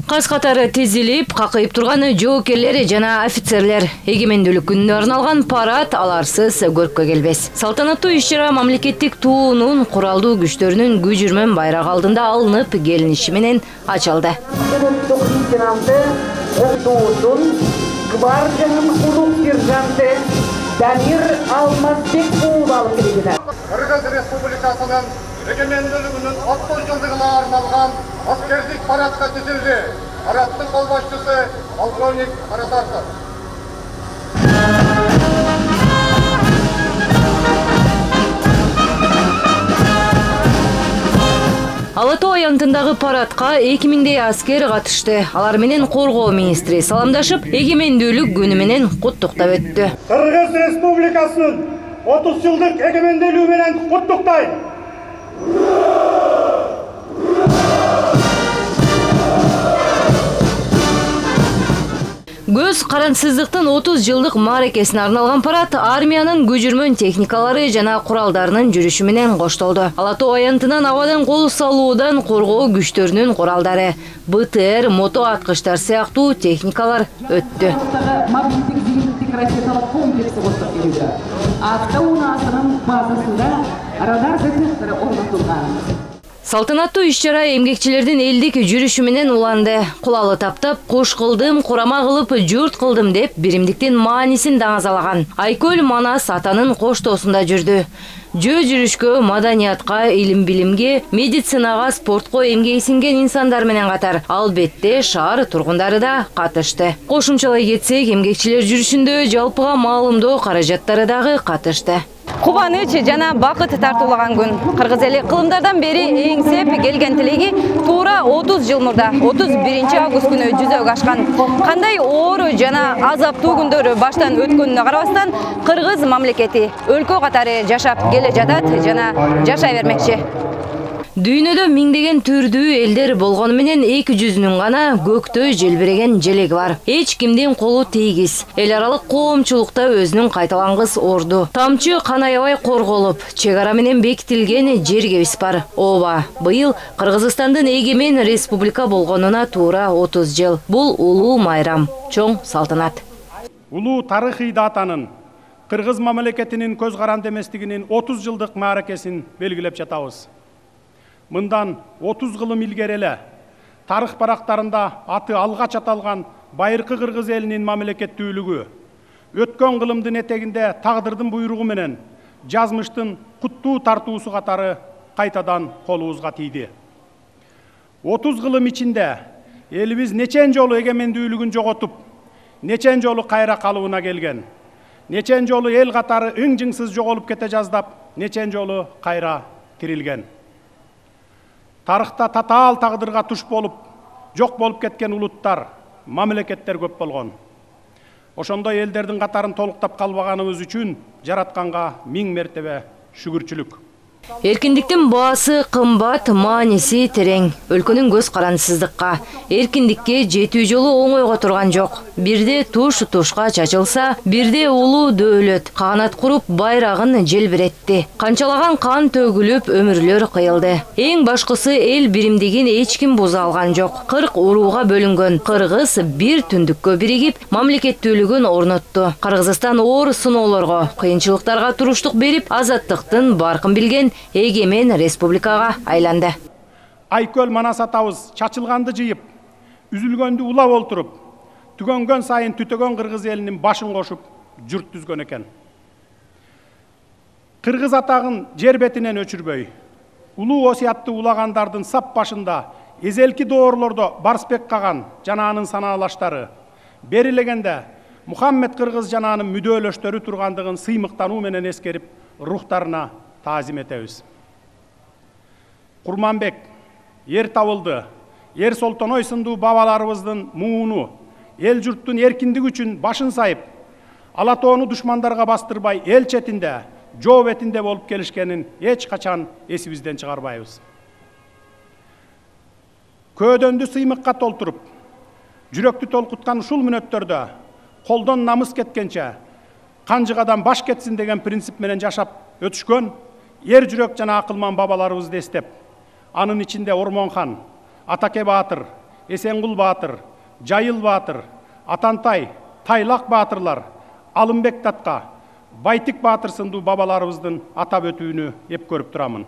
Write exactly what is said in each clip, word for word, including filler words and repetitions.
Каз катары тизилип, какыйып турган жоокерлер жана офицерлер. Эгемендүүлүк күнүнө арналган парад аларсыз көрккө келбес. Салтанаттуу иш-чара мамлекеттик туунун куралдуу күчтөрүнүн күжүрмөн байрагы алдында алынып келиниши менен ачылды. Кыргыз Республикасынын эгемендүүлүгүнүн отуз жылдыгына арналган аскердик парадка тизилди. Парадтын кол башчысы полковник Каратартов. Ала Тоо аянтындагы парадка эки миңдей аскер катышты. Алар менен коргоо министри саламдашып, эгемендүүлүк күнү менен куттуктап өттү. Кыргыз Республикасынын отуз жылдык эгемендүүлүгү менен куттуктайм. Көз карансыздыктын отуз жылдык мааракесине арналган парад армиянын күжүрмөн техникалары жана куралдарынын жүрүшү менен коштолду. Ала Тоо аянтынан абадан кол салуудан коргоо күчтөрүнүн куралдары, Б Т Р, мото аткычтар сыяктуу техникалар өттү. Салтанаттуу иш-чара эмгекчилердин элдик жүрүшү менен уланды. Кулалы таптап, куш кылдым, курама кылып, журт кылдым деп биримдиктин маанисин даңазалаган. Айкөл Манас атанын коштоосунда жүрдү. Жөө жүрүшкө, маданиятка, илим-билимге, медицинага, спортко эмгеги сиңген инсандар менен катар албетте шаар тургундары да катышты. Кошумчалай кетсек, эмгекчилер жүрүшүндө жалпыга маалымдоо каражаттары дагы катышты. Кубаныч жана бакыт тартуулаган күн. Кыргыз эли кылымдардан бери эңсеп келген тилеги туура отуз жыл мурда отуз биринчи август күнү жүзөгө ашкан. Кандай оор жана азаптуу күндөр баштан өткөнүнө карабастан, кыргыз мамлекети өлкө катары жашап келе жатат жана жашай бермекчи. Дүйнөдө миңдеген түрдүү элдер болгону менен эки жүзүнүн гана көктө желбиреген желеги бар. Эч кимдин колу тийгиз. Эл аралык коомчулукта өзүнүн кайталангыс орду. Тамчы кан аябай корголуп, чек ара менен бекитилген жергебиз бар. Ооба, быйыл Кыргызстандын эгемен республика болгонуна туура отуз жыл. Бул улуу майрам, чоң салтанат. Улуу тарыхый датанын Кыргыз мамлекетинин көз каранды эместигинин отуз жылдык мааракесин белгилеп жатабыз. Мындан отуз кылым илгери эле тарых барактарында аты алгач аталган байыркы кыргыз элинин мамлекеттүүлүгү өткөн кылымдын этегинде тагдырдын буйругу менен жазмыштын куттуу тартуусу катары кайтадан колубузга тийди. отуз кылым ичинде элибиз нечен жолу эгемендүүлүгүн жоготуп, нечен жолу кайра калыбына келген, нечен жолу эл катары ың-жыңсыз жоголуп кете жаздап, нечен жолу кайра тирилген. Тарыхта татаал тагдырга туш болуп, жок болуп кеткен улуттар, мамлекеттер көп болгон. Ошондой элдердин катарын толуктап калбаганыбыз үчүн жаратканга миң мертебе шүгүрчүлүк. Эркиндиктин баасы кымбат, мааниси терең. Өлкөнүн көз карансыздыкка, эркиндикке жетүү жолу оңойго турган жок. Бирде туш тушка чачылса, бирде улуу дөөлөт каганат куруп байрагын желбиретти. Канчалаган кан төгүлүп, өмүрлөр кыйылды. Эң башкысы эл биримдигин эч ким буза алган жок. кырк урууга бөлүнгөн кыргыз бир түндүккө биригип, мамлекеттүүлүгүн орнотту. Кыргызстан оор сыноолорго, кыйынчылыктарга туруштук берип, азаттыктын баркын билген эгемен республикага айланды. Айкөл Манас атабыз чачылганды жыйып, үзүлгөндү улап олтуруп, түгөнгөн сайын түтөгөн кыргыз элинин башын кошуп, журт түзгөн экен. Кыргыз атагын жер бетинен өчүрбөй, улуу осуятты улагандардын сап башында эзелки доорлордо Барсбек Каган жана анын санаалаштары, берилегенде Мухаммед Кыргыз жана анын мүдөөлөштөрү тургандыгын сыймыктануу менен эскерип, рухтарына таазим этебиз. Курманбек, Ер Табылды, Ер Солтоной сындуу бабаларыбыздын мууну, эл журттун эркиндиги үчүн башын сайып, Ала Тоону душмандарга бастырбай, эл четинде, жоо бетинде болуп келишкенин эч качан эсибизден чыгарбайбыз. Көөдөндү сыймыкка толтуруп, жүрөктү толкуткан ушул мүнөттөрдө колдон намыс кеткенче, канжыгадан баш кетсин деген принцип менен жашап өтүшкөн ер жүрөк жана акылман бабаларыбызды эстеп, анын ичинде Ормон хан, Атаке Баатыр, Эсенгул Баатыр, Жайыл Баатыр, Атантай, Тайлак баатырлар, Алымбек Татка, Байтик Баатыр сындуу бабаларыбыздын атап өтүүнү эп көрүп турамын.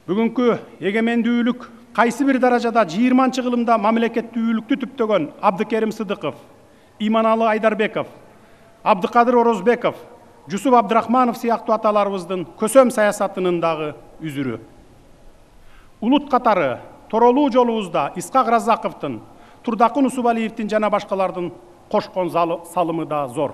Бүгүнкү эгемендүүлүк кайсы бир даражада жыйырманчы кылымда мамлекеттүүлүктү түптөгөн Абдыкерим Сыдыков, Иманалы Айдарбеков, Абдыкадыр Орозбеков, Жусуп Абдрахманов сыяктуу аталарыбыздын көсөм саясатынын дагы үзүрү. Улут катары торолуу жолубузда Исхак Разаковдун, Турдакын Усубалиевдин жана башкалардын кошкон салымы да зор.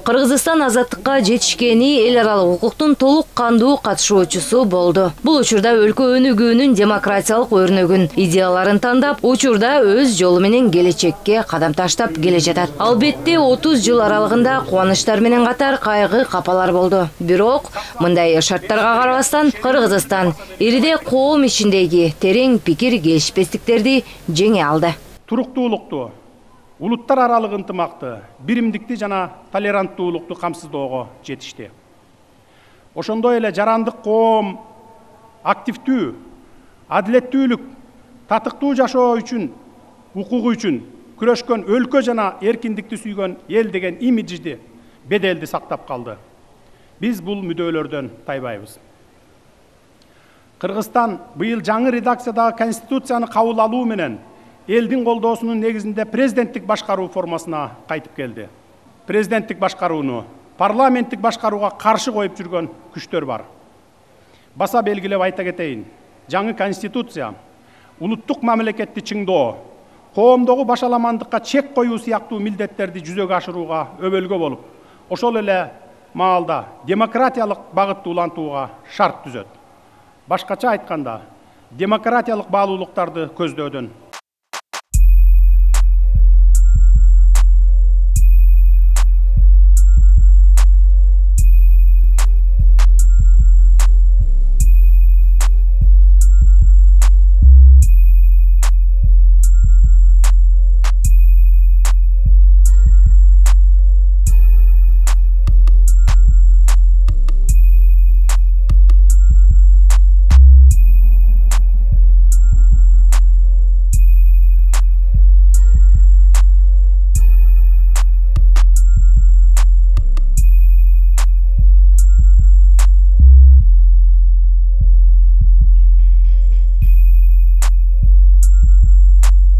Кыргызстан азаттыкка жетишкени эл аралык укуктун толук кандуу катышуучусу болду. Бул учурда өлкө өнүгүүнүн демократиялык өрнөгүн, идеяларын тандап, учурда өз жолу менен келечекке кадам таштап келе жатат. Албетте отуз жыл аралыгында кубанычтар менен катар кайгы капалар болду. Бирок мындай шарттарга карабастан Кыргызстан ириде коом ичиндеги терең пикир келишпестиктерди жеңе алды. Туруктуулукту, улуттар аралык ынтымакты, биримдикти жана толеранттуулукту камсыздоого жетишти. Ошондой эле жарандык коом активдүү, адилеттүүлүк, татыктуу жашоо үчүн, укугу үчүн күрөшкөн өлкө жана эркиндикти сүйгөн эл деген имиджди, беделди сактап калды. Биз бул мүдөлөрдөн тайбайбыз. Кыргызстан быйыл жаңы редакциядагы конституцияны кабыл алуу менен элдин колдоосунун негизинде президенттик башкаруу формасына кайтып келди. Президенттик башкарууну парламенттик башкарууга каршы коюп жүргөн күчтөр бар. Баса белгилеп айта кетейин, жаңы конституция улуттук мамлекетти чыңдоо, коомдогу башаламандыкка чек коюу сыяктуу милдеттерди жүзөгө ашырууга өбөлгө болуп, ошол эле маалда демократиялык багытты улантууга шарт түзөт. Башкача айтканда, демократиялык баалуулуктарды көздөөдөн.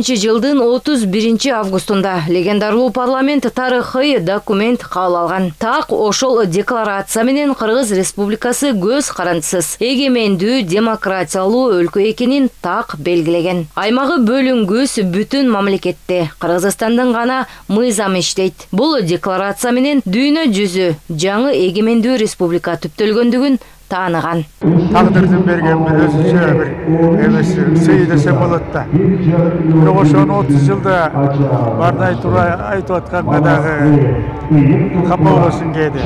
Жылдын отуз биринчи августунда легендарлуу парламент тарыхый документ кабыл алган. Так ошол декларация менен Кыргыз Республикасы көз карандысыз эгемендүү демократиялуу өлкө экенин так белгилеген. Аймагы бөлүнгүс бүтүн мамлекетте Кыргызстандын гана мыйзамы иштейт. Бул декларация менен дүйнө жүзү жаңы эгемендүү республика түптөлгөндүгүн тааныган. Тагдырдын берген бир өзүнчө бир эмес сый десем болот да. Бирок ошону отуз жылда бардай тура айтып атканга дагы капа болосуң кээде.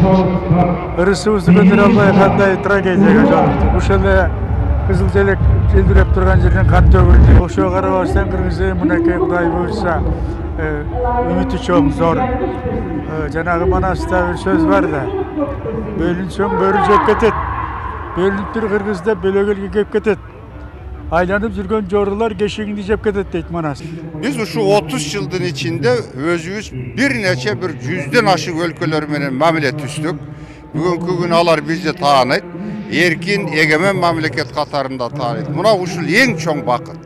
Ырысыбызды көтөрө албай кандай трагедияга жолуктук. Ушул эле кызыл желек желбиреп турган жерден кан төгүлдү. Ошого карабастан Кыргыз мынакей Кудай буйрса үмүтү чоң, зор. Жанагы Манаста бир сөз бар да. Бөлүнсөң бөрү жеп кетет. Бөлүнүп бир Кыргызда бөлөгөлгө кеп кетет. Айланып жүргөн жорулар кешигинди жеп кетет дейт Манас. Биз ушу отуз жылдын ичинде өзүбүз бир нече бир жүздөн ашык өлкөлөр менен мамиле түздүк. Бүгүнкү күнү алар бизди тааныйт. Эркин, эгемен мамлекет катарында тааныйт. Мына ушул эң чоң бакыт.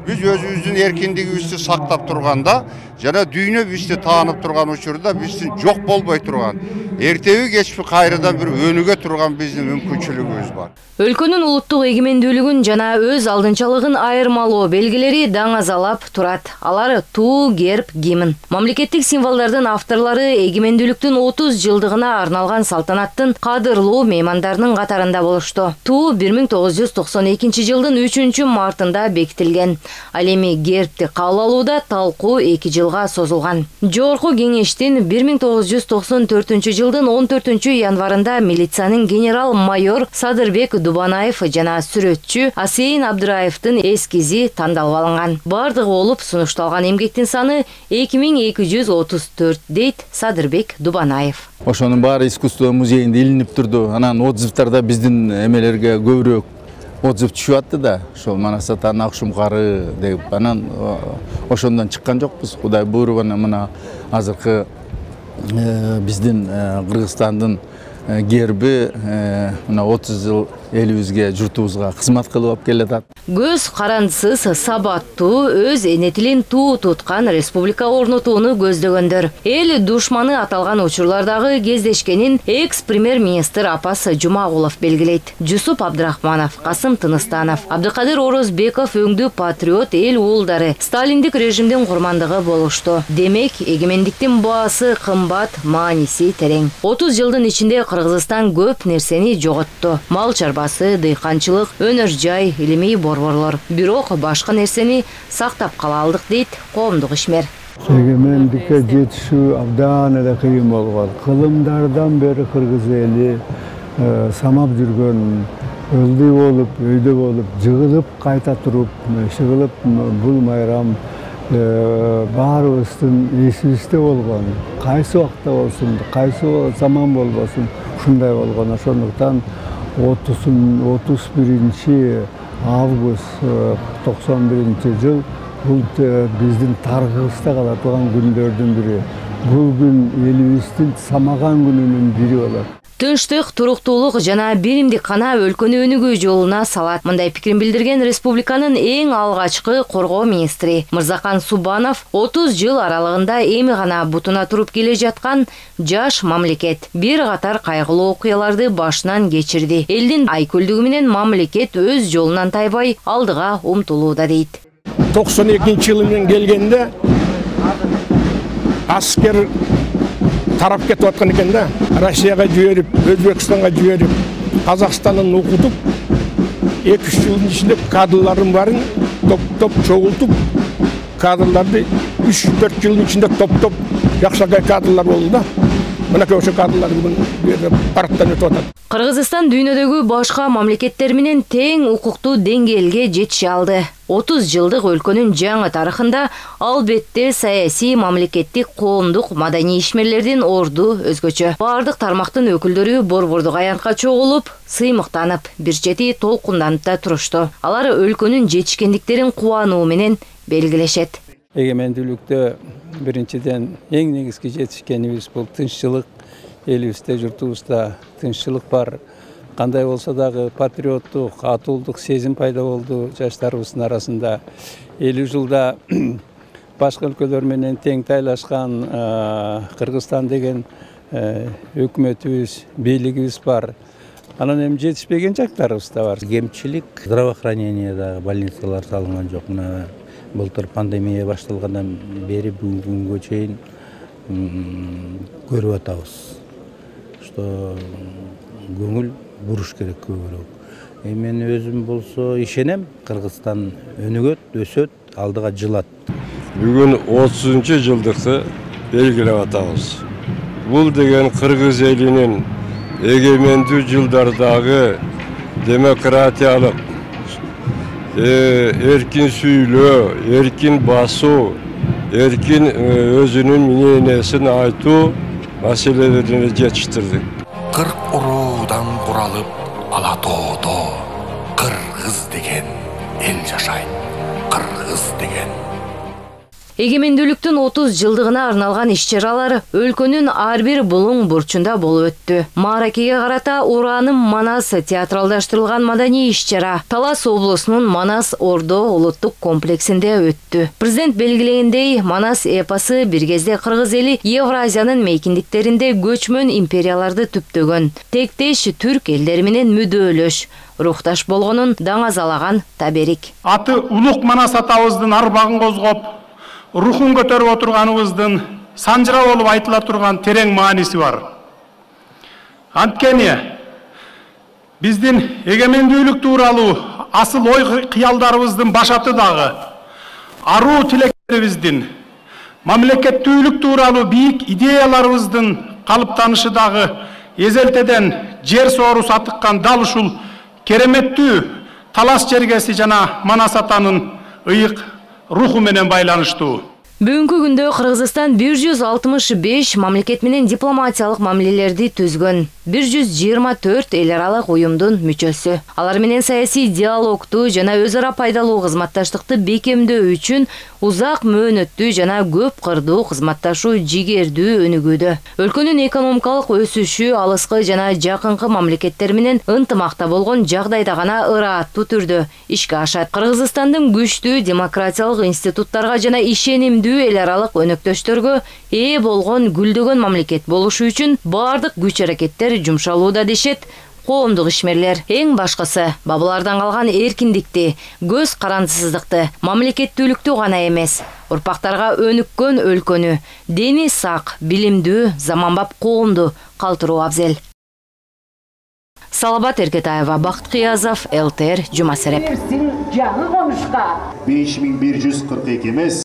Биз өзүбүздүн эркиндигибизди сактап турганда, жана дүйнө бизди таанып турган учурда биздин жок болбой турган, эртеби кечпи кайрадан бир өнүгө турган биздин мүмкүнчүлүгүбүз бар. Өлкөнүн улуттук эгемендүүлүгүн жана өз алдынчалыгын айырмалоо белгилери даңазалап турат. Алар туу, герб, гимн. Мамлекеттик символдордун авторлору эгемендүүлүктүн отуз жылдыгына арналган салтанаттын кадырлуу меймандарынын катарында болушту. Туу бир миң тогуз жүз токсон экинчи жылдын үчүнчү мартында бекитилген. Ал эми гербти кабыл алууда талкуу эки жылга созулган. Жогорку кеңештин бир миң тогуз жүз токсон төртүнчү жылдын он төртүнчү январында милициянын генерал-майор Садырбек Дубанаев жана сүрөтчү Асейин Абдыраевдин эскизи тандалып алынган. Бардыгы болуп сунушталган эмгектин саны эки миң эки жүз отуз төрт дейт Садырбек Дубанаев. Ошонун баары искусство музейинде илинип турду. Анан отзывдарда биздин эмелерге көбүрөөк отзыв түшүп атты да, ошол Манас атанын акшумкары деп, анан ошондон чыккан жокпуз. Кудай буйруп анан мына азыркы биздин Кыргызстандын герби мына отуз жыл элибизге, журтубузга кызмат кылып алып келатат. Көз карандысыз сабаттуу, өз эне тилин туу туткан республика орнотууну көздөгөндөр. Эл душманы аталган учурлардагы кездешкенин экс-премьер-министр Апас Жумагулов белгилейт. Жусуп Абдрахманов, Касым Тыныстанов, Абдыкадыр Орозбеков өңдүү патриот эл уулдары сталиндик режимдин курмандыгы болушту. Демек, эгемендиктин баасы кымбат, мааниси терең. отуз жылдын ичинде Кыргызстан көп нерсени жоготту. Мал чарбасы, дыйканчылык, өнөр жай, илимий борборлор. Бирок башка нерсени сактап кала алдык дейт коомдук ишмер. Эгемендикке жетишүү абдан эле кыйын болгон. Кылымдардан бери кыргыз эли самап жүргөн, ылдый болуп, өйдө болуп, жыгылып кайта туруп, шыгылып бул майрам баарыбыздын эсибизде болгон. Кайсы убакта болсун, кайсы заман болбосун, ушундай болгон. Ошондуктан отуз биринчи август токсон биринчи жыл бул биздин тарыхыбызда кала турган күндөрдүн бири. Бул күн элибиздин самаган күнүнүн бири болот. Тынчтык, туруктуулук жана биримдик кана өлкөнү өнүгүү жолуна салат. Мындай пикирин билдирген республиканын эң алгачкы коргоо министри Мырзакан Субанов отуз жыл аралыгында эми гана бутуна туруп келе жаткан жаш мамлекет бир катар кайгылуу окуяларды башынан кечирди. Элдин айкөлдүгү менен мамлекет өз жолунан тайбай алдыга умтулууда дейт. токсон экинчи жылы мен келгенде аскер тарап кетип аткан экен да. Россияга жиберип, Өзбекстанга жиберип, Казакстандан окутуп, эки үч жылдын ичинде кадрлардын баарын топ-топ чогултуп, кадрларды үч төрт жылдын ичинде топ-топ жакшыркай кадрлар болду да. Мынакей ошо кадрлар бүгүн парктан өтүп атат. Кыргызстан дүйнөдөгү башка мамлекеттер менен тең укуктуу деңгээлге жетише алды. отуз жылдык өлкөнүн жаңы тарыхында албетте саясий, мамлекеттик, коомдук, маданий ишмерлердин орду өзгөчө. Бардык тармактын өкүлдөрү борбордук аянтка чогулуп, сыймыктанып, бир чети толкунданып да турушту. Алар өлкөнүн жетишкендиктерин кубануу менен белгилешет. Эгемендүүлүктө биринчиден эң негизги жетишкенибиз бул тынччылык. Элибизде, журтубузда тынччылык бар. Кандай болсо дагы патриоттук, атуулдук сезим пайда болду жаштарыбыздын арасында. элүү жылда башка өлкөлөр менен тең тайлашкан Кыргызстан деген өкмөтүбүз, бийлигибиз бар. Анан эми жетишпеген жактарыбыз да бар. Кемчилик, здравоохранениеда больницалар салынган жок. Мына былтыр пандемия башталгандан бери бүгүнкү күнгө чейин көрүп атабыз. Что көңүл буруш керек көбүрөөк. Мен өзүм болсо ишенем, Кыргызстан өнүгөт, өсөт, алдыга жылат. Бүгүн отузунчу жылдыкты белгилеп атабыз. Бул деген кыргыз элинин эгемендүү жылдардагы демократиялык, эркин сүйлөө, эркин басуу, эркин өзүнүн мнениясын айтуу маселелерине жетиштирдик. Кырк уруудан куралып ала тоодо кыргыз деген эл жашайт. Кыргыз деген. Эгемендүүлүктүн отуз жылдыгына арналган иш-чаралар өлкөнүн ар бир булуң бурчунда болуп өттү. Мааракеге карата Ураным Манас театралдаштырылган маданий иш-чара Талас облусунун Манас Ордо улуттук комплексинде өттү. Президент белгилегендей, Манас эпосы бир кезде кыргыз эли Евразиянын мейкиндиктеринде көчмөн империяларды түптөгөн, тектеш түрк элдери менен мүдөөлөш, рукташ болгонун даңазалаган таберик. Аты улук Манас атабыздын арбагын козгоп, рухун көтөрүп отурганыбыздын санжыра болуп айтыла турган терең мааниси бар. Анткени биздин эгемендүүлүк тууралуу асыл ой кыялдарыбыздын башаты дагы, аруу тилектерибиздин, мамлекеттүүлүк тууралуу бийик идеяларыбыздын калыптанышы дагы эзелтеден жер соору сатыккан дал ушул кереметтүү Талас жергеси жана Манас атанын ыйык руху менен байланыштуу. Бүгүнкү күндө Кыргызстан бир жүз алтымыш беш мамлекет менен дипломатиялык мамилелерди түзгөн. бир жүз жыйырма төрт эл аралык уюмдун мүчөсү. Алар менен саясий диалогду жана өз ара пайдалуу кызматташтыкты бекемдөө үчүн узак мөөнөттүү жана көп кырдуу кызматташуу жигердүү өнүгүүдө. Өлкөнүн экономикалык өсүшү алыскы жана жакынкы мамлекеттер менен ынтымакта болгон жагдайда гана ырааттуу түрдө ишке ашат. Кыргызстандын күчтүү демократиялык институттарга жана ишенимдүү эл аралык өнөктөштөргө ээ болгон гүлдөгөн мамлекет болушу үчүн бардык күч аракеттер жумшалууда дешет коомдук ишмерлер. Эң башкысы бабалардан калган эркиндикти, көз карандысыздыкты, мамлекеттүүлүктү гана эмес, урпактарга өнүккөн өлкөнү, дени сак, билимдүү, заманбап коомду калтыруу абзел. Салабат Эркетаева, Бакыт Кыязов, эл тэ эр, Жума сереп. беш миң бир жүз кырк эки эмес.